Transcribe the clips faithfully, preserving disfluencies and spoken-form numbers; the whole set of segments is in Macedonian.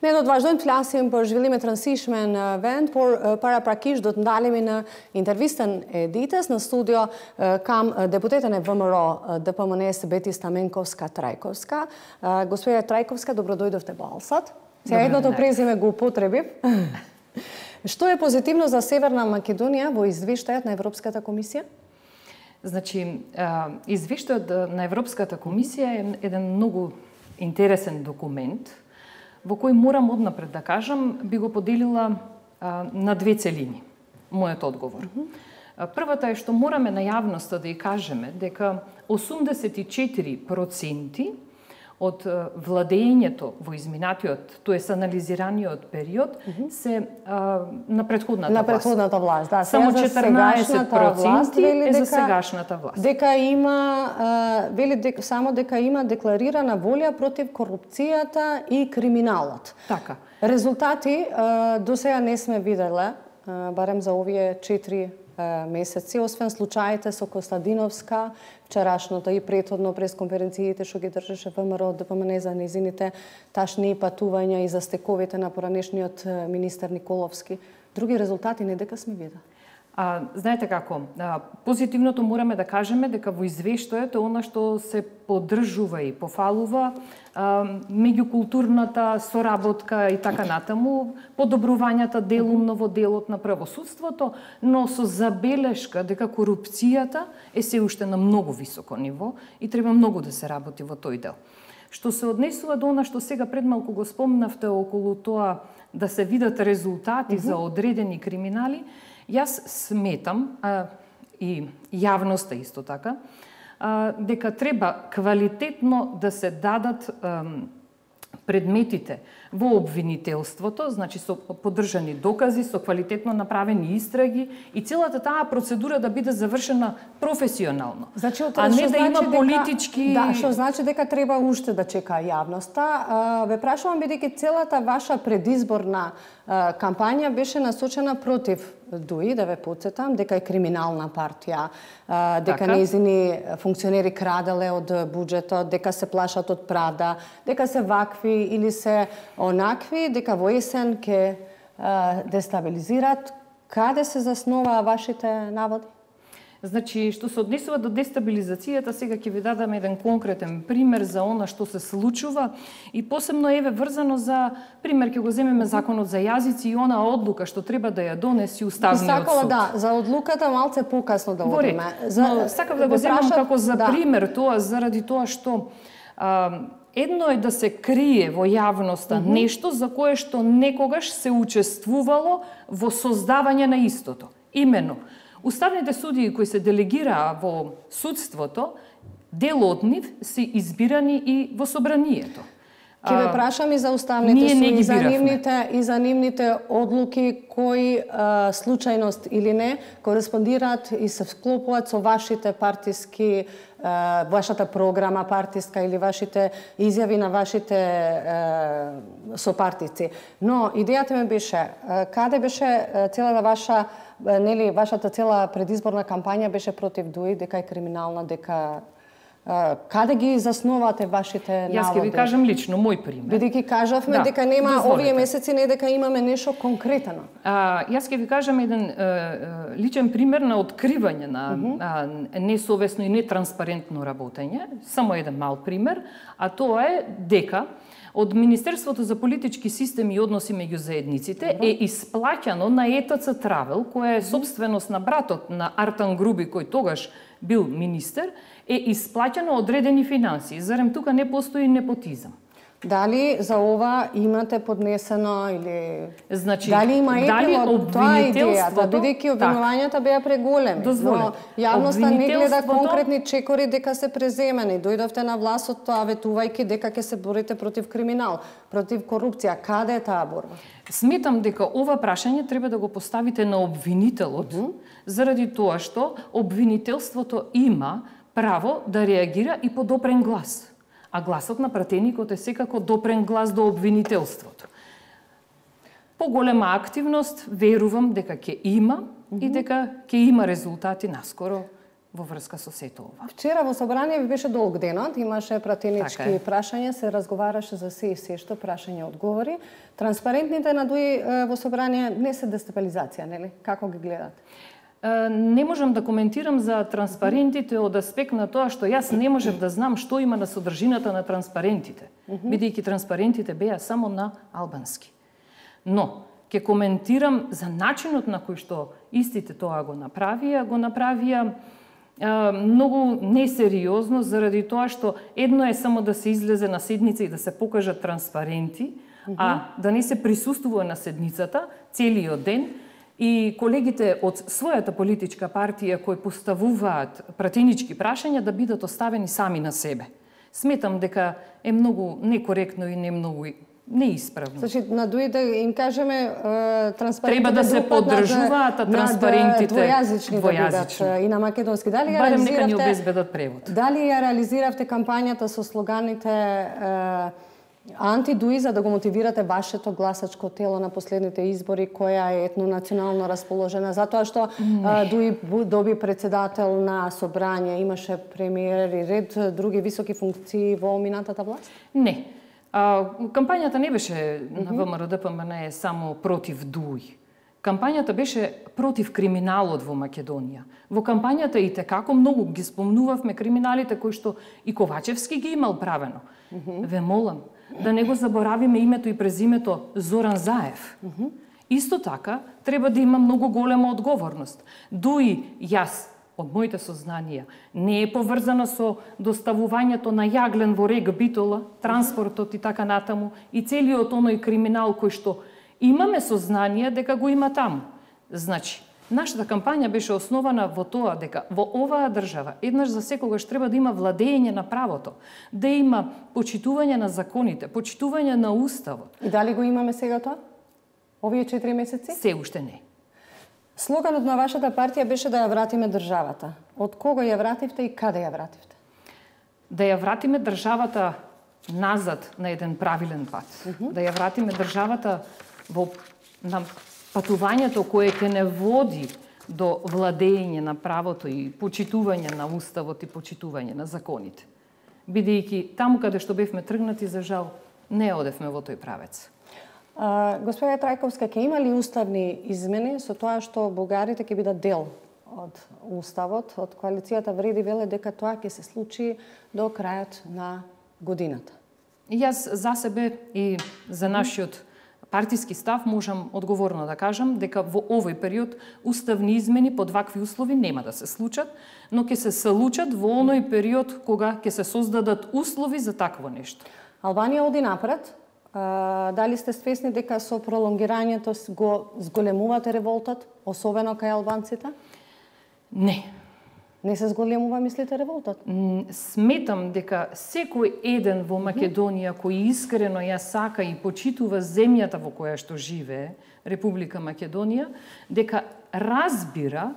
Ne do të vazhdojmë të flasim për zhvillimet rëndësishme në vend, por paraprakisht do të ndalemi në intervistën e ditës. Në studio kam deputetën e V M R O D P M N-s Beti Stamenkovska-Trajkovska. Госпожа Трайковска, добро дојдовте во Алсат. Сега едно то презиме го употребив. Што е позитивно за Северна Македонија во извештајот на Европската комисија? Значи, извештајот на Европската комисија е еден многу интересен документ, во кој морам однапред да кажам, би го поделила а, на две целини, мојот одговор. Mm -hmm. Првата е што мораме на јавноста да ја кажеме дека осумдесет и четири проценти од владењето во изминатиот, тоест анализираниот период, mm -hmm. се а, на претходната на власт. На претходната власт, да. Само четрнаесет проценти е за сегашната власт. Дека има, а, вели дека, само дека има декларирана волја против корупцијата и криминалот. Така. Резултати а, до сега не сме виделе, а, барем за овие четири месеци, освен случаите со Костадиновска, вчерашното и претходно пресконференциите што ги држеше В М R O Д П М Н за незините ташни патувања и за стековите на поранешниот министер Николовски. Други резултати не дека сме видели. А, знаете како, а, позитивното мораме да кажеме дека во извештајот е она што се поддржува и пофалува а, меѓукултурната соработка и така натаму, подобрувањата делумно во делот на правосудството, но со забелешка дека корупцијата е се уште на многу високо ниво и треба многу да се работи во тој дел. Што се однесува до она што сега пред малку го спомнавте околу тоа да се видат резултати mm -hmm. за одредени криминали, јас сметам, а, и јавноста исто така, а, дека треба квалитетно да се дадат а, предметите во обвинителството, значи со поддржани докази, со квалитетно направени истраги и целата таа процедура да биде завршена професионално. Значи, а не да значи има дека, политички... Да, што значи дека треба уште да чека јавноста. Ве прашувам бидејќи целата ваша предизборна кампања беше насочена против ДУИ, да ве потсетам, дека е криминална партија, дека така? Нејзини функционери краделе од буџетот, дека се плашат од Прада, дека се вакви или се онакви, дека во есен ќе дестабилизират. Каде се заснова вашите наводи? Значи, што се однесува до дестабилизацијата, сега ќе ви дадам еден конкретен пример за она што се случува и посебно еве врзано за пример ќе го земеме законот за јазици и она одлука што треба да ја донеси Уставниот Сакала, суд. да, за одлуката малце покасно да одиме. За, но сакав да го земам како за да. пример тоа, заради тоа што а, едно е да се крие во јавноста mm -hmm. нешто за кое што некогаш се учествувало во создавање на истото. Имено, уставните судии кои се делегираа во судството, дел од нив се избирани и во собранието. Ќе ве прашам и за уставните судии, за нивните и за нивните одлуки кои а, случајност или не кореспондираат и се вклопуваат со вашите партиски, а, вашата програма партиска или вашите изјави на вашите а, сопартици. Но идејата ми беше, а, каде беше целата ваша нели вашата цела предизборна кампања беше против ДУИ, дека е криминална, дека каде ги засновате вашите наводи? Јас ќе ви кажам лично мој пример. Бидејќи кажавме да, дека нема дозволите. Овие месеци не дека имаме нешто конкретно. А, јас ќе ви кажам еден е, личен пример на откривање на mm -hmm. а, несовесно и нетранспарентно работење. Само еден мал пример, а тоа е дека од Министерството за политички системи и односи меѓу заедниците mm -hmm. е исплаќано на Е Т Ц Травел, која е собственост на братот на Артан Груби, кој тогаш бил министер, е исплаќано одредени финансии. Зарем тука не постои непотизам? Дали за ова имате поднесено или значи, дали има епилог? Тоа е идејата, бидејќи обвинувањата беа преголеми. Но јавноста не гледа конкретни чекори дека се преземени. Дојдовте на власт тоа ветувајќи дека ќе се борите против криминал, против корупција. Каде е таа борба? Сметам дека ова прашање треба да го поставите на обвинителот, mm -hmm. заради тоа што обвинителството има право да реагира и по допрен глас. А гласот на пратеникот е секако допрен глас до обвинителството. Поголема активност, верувам дека ќе има mm -hmm. и дека ќе има резултати наскоро во врска со сето ова. Вчера во собрание ви беше долг денот, имаше пратенички така прашања, се разговараше за се и се што прашања одговори. Транспарентните надуи во собрание не се дестабилизација, нели? Како ги гледате? Не можам да коментирам за транспарентите од аспект на тоа што јас не можев да знам што има на содржината на транспарентите, бидејќи транспарентите беа само на албански. Но ќе коментирам за начинот на кој што истите тоа го направија, го направија многу несериозно заради тоа што едно е само да се излезе на седница и да се покажат транспаренти, mm-hmm. а да не се присуствува на седницата целиот ден и колегите од својата политичка партија кои поставуваат пратенички прашања да бидат оставени сами на себе. Сметам дека е многу некоректно и не многу неисправно. Значи, надуи да им кажеме транспарентите треба да се поддржуваат транспарентите двојазични да бидат и на македонски. Дали ја барем нека ни обезбедат превод. Дали ја реализиравте кампањата со слоганите антидуи за да го мотивирате вашето гласачко тело на последните избори која е етнонационално расположена затоа што а, Дуи доби председател на собрање, имаше премиер и ред други високи функции во минатата власт? Не. А, кампањата не беше на ВМРО-ДПМН само против Дуи. Кампањата беше против криминалот во Македонија. Во кампањата и текако многу ги спомнувавме криминалите кои што и Ковачевски ги имал правено. Mm -hmm. Ве молам да не го заборавиме името и презимето Зоран Заев. Mm -hmm. Исто така треба да има многу голема одговорност. Дуи јас од моите сознанија не е поврзана со доставувањето на јаглен во Рег Битола, транспортот и така натаму и целиот оној криминал кој што имаме сознание дека го има таму. Значи, нашата кампања беше основана во тоа дека во оваа држава еднаш за секогаш треба да има владење на правото, да има почитување на законите, почитување на уставот. И дали го имаме сега тоа? Овие четири месеци? Се уште не. Слоганот на вашата партија беше да ја вратиме државата. Од кого ја вративте и каде ја вративте? Да ја вратиме државата назад на еден правилен пат. Uh -huh. Да ја вратиме државата во на патувањето кое ќе не води до владење на правото и почитување на уставот и почитување на законите. Бидејќи таму каде што бевме тргнати, за жал, не одевме во тој правец. А, господја Трајковска, ќе има ли уставни измени со тоа што бугарите ќе бидат дел од уставот, од коалицијата Вреди веле дека тоа ќе се случи до крајот на годината? Јас за себе и за нашиот партиски став можам одговорно да кажам дека во овој период уставни измени под вакви услови нема да се случат, но ќе се случат во оној период кога ќе се создадат услови за такво нешто. Албанија оди напред. А, дали сте свесни дека со пролонгирањето го зголемувате револтот, особено кај албанците? Не. Не се зголемува, мислите, револтот? Сметам дека секој еден во Македонија кој искрено ја сака и почитува земјата во која што живее, Република Македонија, дека разбира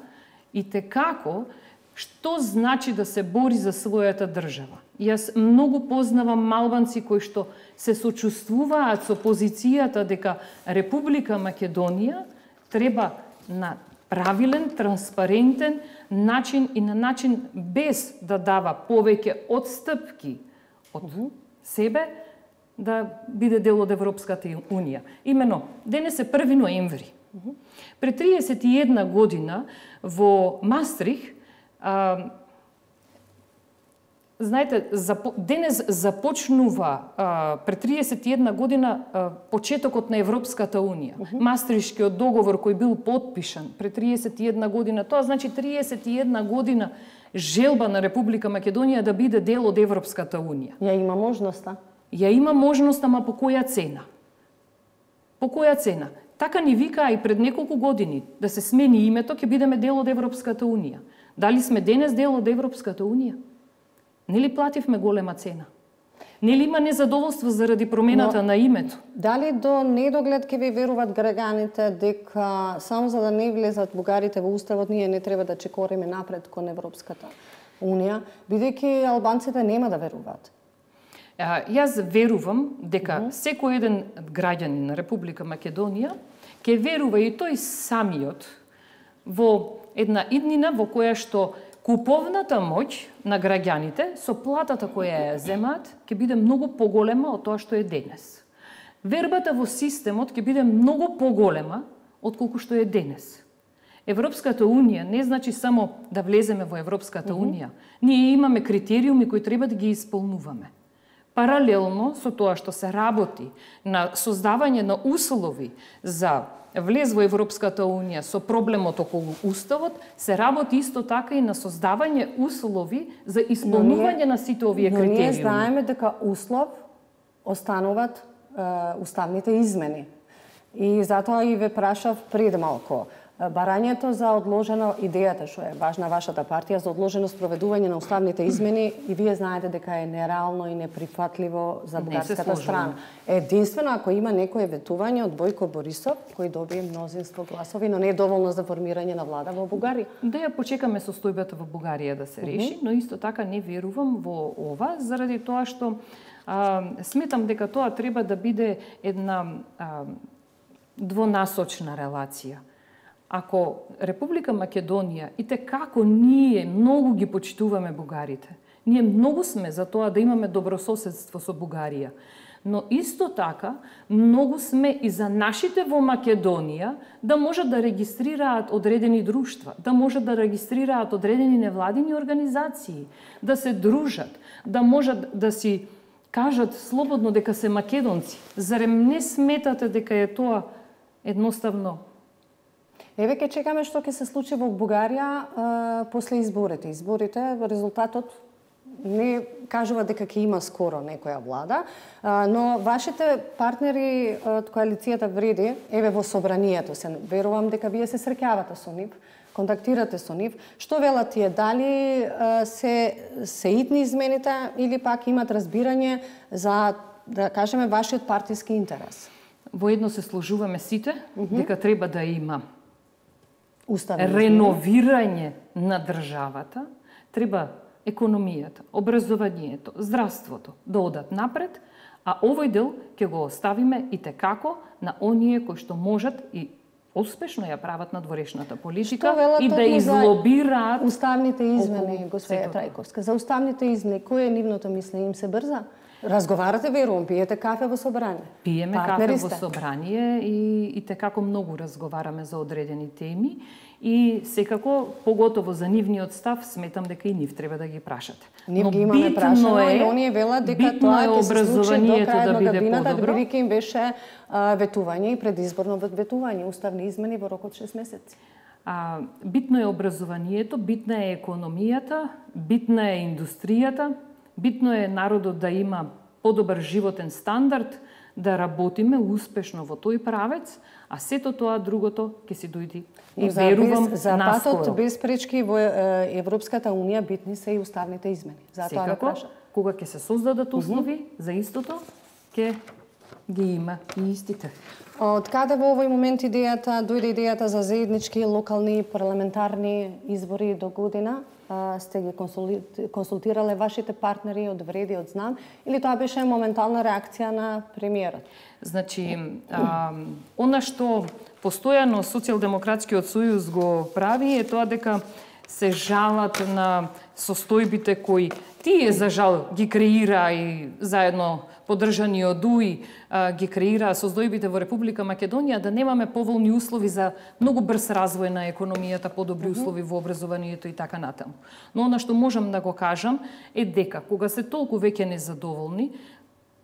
и текако што значи да се бори за својата држава. Јас многу познавам албанци кои што се сочувствуваат со позицијата дека Република Македонија треба на правилен, транспарентен начин и на начин без да дава повеќе отстапки од uh -huh. себе, да биде дел од Европската унија. Имено, денес е први ноември. Uh -huh. Пред триесет и една година во Мастрих, а, знаете, запо... денес започнува а, пред триесет и една година а, почетокот на Европската унија. Uh -huh. Мастришкиот договор кој бил потпишан пред триесет и една година, тоа значи триесет и една година желба на Република Македонија да биде дел од Европската унија. Ја има можноста? Ја има можност, ама по која цена? По која цена? Така ни викаа и пред неколку години да се смени името, ќе бидеме дел од Европската унија. Дали сме денес дел од Европската унија? Нели плативме голема цена? Нели има незадоволство заради промената Но, на името? Дали до недоглед ќе ви веруват граѓаните дека само за да не влезат бугарите во уставот, ние не треба да чекориме напред кон Европската унија, бидејќи албанците нема да веруваат? А, јас верувам дека uh -huh. секој еден граѓанин на Република Македонија ќе верува и тој самиот во една иднина во која што куповната моќ на граѓаните со платата која ја земаат ќе биде многу поголема од тоа што е денес. Вербата во системот ќе биде многу поголема отколку што е денес. Европската Унија не значи само да влеземе во Европската Унија. Ние имаме критериуми кои треба да ги исполнуваме. Паралелно со тоа што се работи на создавање на услови за влез во Европската Унија со проблемот околу Уставот, се работи исто така и на создавање услови за исполнување на сите овие критериуми. Но ние знаеме дека услов остануваат е, уставните измени. И затоа и ве прашав пред малку. Барањето за одложено, идејата што е важна вашата партија за одложено спроведување на уставните измени, и вие знаете дека е нереално и неприфатливо за бугарската страна. Единствено ако има некое ветување од Бојко Борисов, кој добие мнозинство гласови, но не е доволно за формирање на влада во Бугарија. Да ја почекаме состојбата во Бугарија да се реши, mm -hmm. но исто така не верувам во ова, заради тоа што а, сметам дека тоа треба да биде една а, двонасочна релација. Ако Република Македонија, и те како ние многу ги почитуваме бугарите, ние многу сме за тоа да имаме добрососедство со Бугарија, но исто така многу сме и за нашите во Македонија да можат да регистрираат одредени друштва, да можат да регистрираат одредени невладини организации, да се дружат, да можат да си кажат слободно дека се македонци. Зарем не сметате дека е тоа едноставно? Еве ќе чекаме што ќе се случи во Бугарија а, после изборите. Изборите, резултатот не кажува дека ќе има скоро некоја влада, а, но вашите партнери од коалицијата Вреди, еве во собранието се, верувам дека вие се среќавате со нив, контактирате со нив. Што велат тие? Дали а, се се итни измените или пак имат разбирање за, да кажеме, вашиот партиски интерес? Воедно се сложуваме сите mm -hmm. дека треба да има Уставни реновирање на државата, треба економијата, образованието, здравството да одат напред, а овој дел ќе го оставиме и текако на оние кои што можат и успешно ја прават надворешната политика и да излобираат уставните измени, господја Трајковска. За уставните измени, кој е нивното мислење? Им се брза? Разговарате, верувам, пиете кафе во собрание? Пиеме кафе во собрание и, и текако многу разговараме за одредени теми и секако, поготово за нивниот став, сметам дека и нив треба да ги прашате. Нив ги имаме прашано е, и оние велат дека тоа ќе се случи до крај на годината, бидејќи им беше а, ветување и предизборно ветување, уставни измени во рок од шест месеци. А, битно е образованието, битна е економијата, битна е индустријата, битно е народот да има подобар животен стандард, да работиме успешно во тој правец, а сето тоа другото ќе си дојди и за верувам без, за наскоро. патот без пречки во Европската Унија битни се и уставните измени. Затоа Секако, ве прашам. кога ќе се создадат услови mm -hmm. за истото, ќе ги има и истите. Од каде во овој момент идејата, дојде идејата за заеднички локални парламентарни избори до година? А, сте ги консултирале вашите партнери од Вреди, од Знам, или тоа беше моментална реакција на премиерот? Значи, а, она што постојано Социјалдемократскиот сојуз го прави е тоа дека се жалат на состојбите кои тие за жал ги креира и заедно поддржани од УИ ги креира состојбите во Република Македонија, да немаме поволни услови за многу брз развој на економијата, подобри услови во образованието и така натаму. Но она што можам да го кажам е дека кога се толку веќе незадоволни,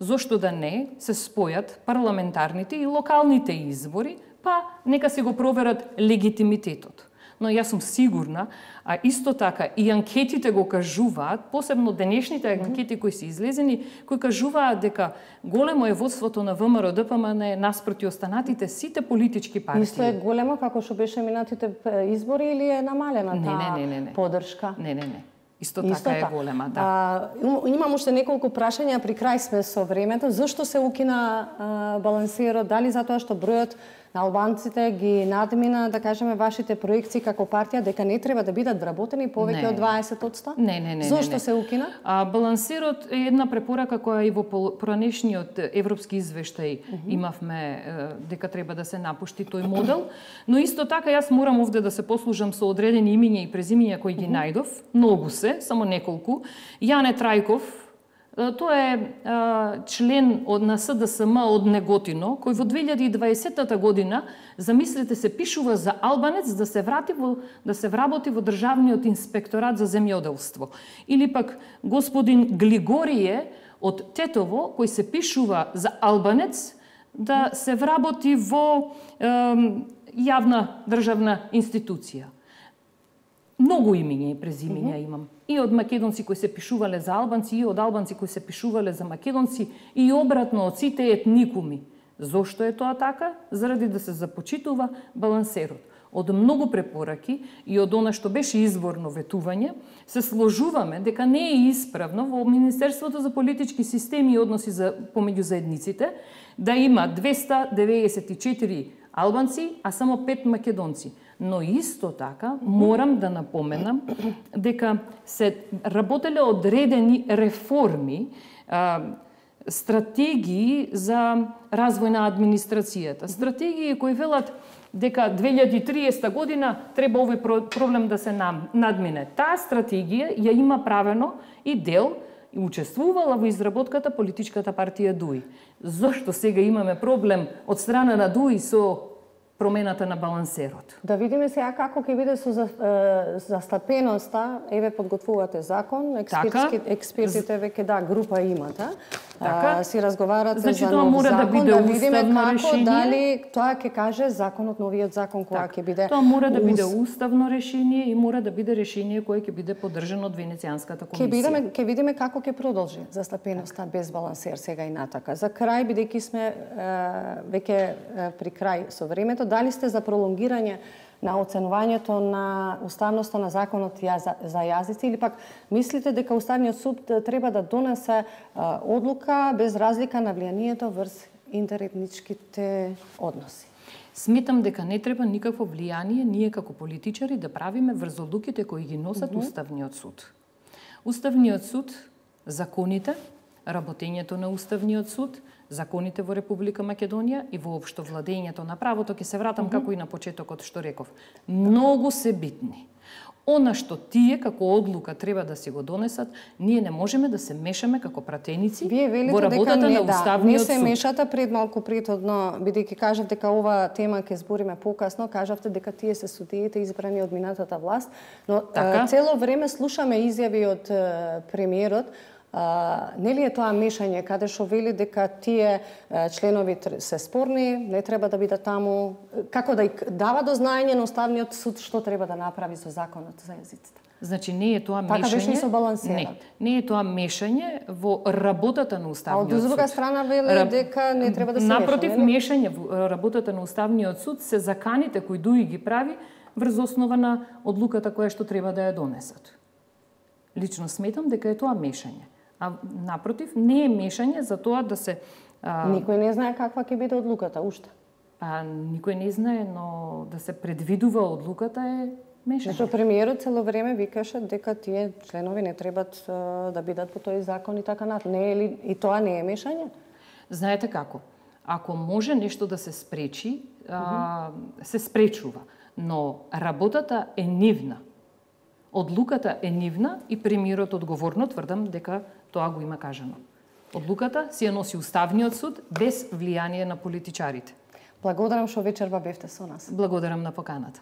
зошто да не се спојат парламентарните и локалните избори, па нека се го проверат легитимитетот. Но јас сум сигурна, а исто така и анкетите го кажуваат, посебно денешните анкети кои се излезени, кои кажуваат дека големо е водството на ВМРО Д П М Н наспроти останатите сите политички партии. Исто е големо како што беше минатите избори или е намалена не, таа не, не, не. поддршка? Не, не, не. Исто, Исто така е голема, да. А, имам уште неколку прашања, при крај сме со времето. Зошто се укина а, балансирот? Дали затоа што бројот на албанците ги надмина, да кажеме, вашите проекции како партија дека не треба да бидат вработени повеќе од дваесет одсто? Не, не, не. Зошто не, не. се укина? А, балансирот е една препорака која и во поранешниот европски извештај uh -huh. имавме дека треба да се напушти тој модел, но исто така јас морам овде да се послужам со одредени имиња и презимиња кои ги најдов, многу се, само неколку. Јане Трајков, тој е а, член од на С Д С М од Неготино, кој во две илјади и дваесетта година, замислете се, пишува за албанец да се врати во, да се вработи во Државниот инспекторат за земјоделство. Или пак господин Глигорие од Тетово, кој се пишува за албанец да се вработи во е, јавна државна институција. Многу имиња и презимиња mm -hmm. имам. И од македонци кои се пишувале за албанци, и од албанци кои се пишувале за македонци, и обратно од сите етникуми. Зошто е тоа така? Заради да се започитува балансерот. Од многу препораки и од она што беше изборно ветување, се сложуваме дека не е исправно во Министерството за политички системи и односи за, помеѓу заедниците да има двеста деветдесет и четири албанци, а само пет македонци. Но исто така морам да напоменам дека се работеле одредени реформи, а, стратегии за развој на администрацијата. Стратегии кои велат дека две илјади и триесетта година треба овој проблем да се надмине. Таа стратегија ја има правено и дел и учествувала во изработката политичката партија ДУИ. Зошто сега имаме проблем од страна на ДУИ со промената на балансерот? Да видиме сега како ќе биде со застапеноста. Еве подготвувате закон, експертски, експертите веќе да група имате. Така, а, си разговарате значи, за нов мора закон, да, биде да видиме како решение. дали тоа ќе каже законот, новиот закон кога ќе биде. Тоа мора да биде уставно решение и мора да биде решение кое ќе биде поддржано од Венецијанската комисија. Ќе видиме, ќе видиме како ќе продолжи застапеноста так. без балансер сега и натака. За крај, бидејќи сме е, веќе при крај со времето, дали сте за пролонгирање на оценувањето на уставноста на законот за јазици или пак мислите дека Уставниот суд треба да донесе одлука без разлика на влијанието врз интеретничките односи? Сметам дека не треба никакво влијание ние како политичари да правиме врз одлуките кои ги носат mm -hmm. Уставниот суд. Уставниот суд, законите, работењето на Уставниот суд, законите во Република Македонија и воопшто владењето на правото, ќе се вратам mm -hmm. како и на почетокот што реков. Многу се битни. Она што тие како одлука треба да си го донесат, ние не можеме да се мешаме како пратеници во работата не, на Уставниот да, не се суд. мешате. Пред малку претhodно, бидејќи кажав дека ова тема ќе збориме покасно, кажавте дека тие се судиите избрани од минатата власт, но така? Цело време слушаме изјави од премиерот. Uh, нели е тоа мешање каде што вели дека тие uh, членови се спорни, не треба да бидат таму, како да дава до знаење на Уставниот суд што треба да направи со законот за јазиците? Значи не е тоа така мешање. Така беше со балансерот. Не, не е тоа мешање во работата на Уставниот суд. А од друга страна вели Раб... дека не треба да се меша. Напротив, мешање во работата на Уставниот суд се заканите кои ДУИ ги прави врз основа на одлуката која што треба да ја донесат. Лично сметам дека е тоа мешање. А напротив, не е мешање за тоа да се... А... Никој не знае каква ќе биде одлуката, уште. А, никој не знае, но да се предвидува одлуката е мешање. Зашто премиерот цело време викаше дека тие членови не требат а, да бидат по тој закон и така натаму. Не е ли и тоа не е мешање? Знаете како? Ако може нешто да се спречи, а, се спречува, но работата е нивна. Одлуката е нивна и премиерот одговорно тврдам дека тоа го има кажано. Одлуката си ја носи Уставниот суд без влијание на политичарите. Благодарам што вечерва бевте со нас. Благодарам на поканата.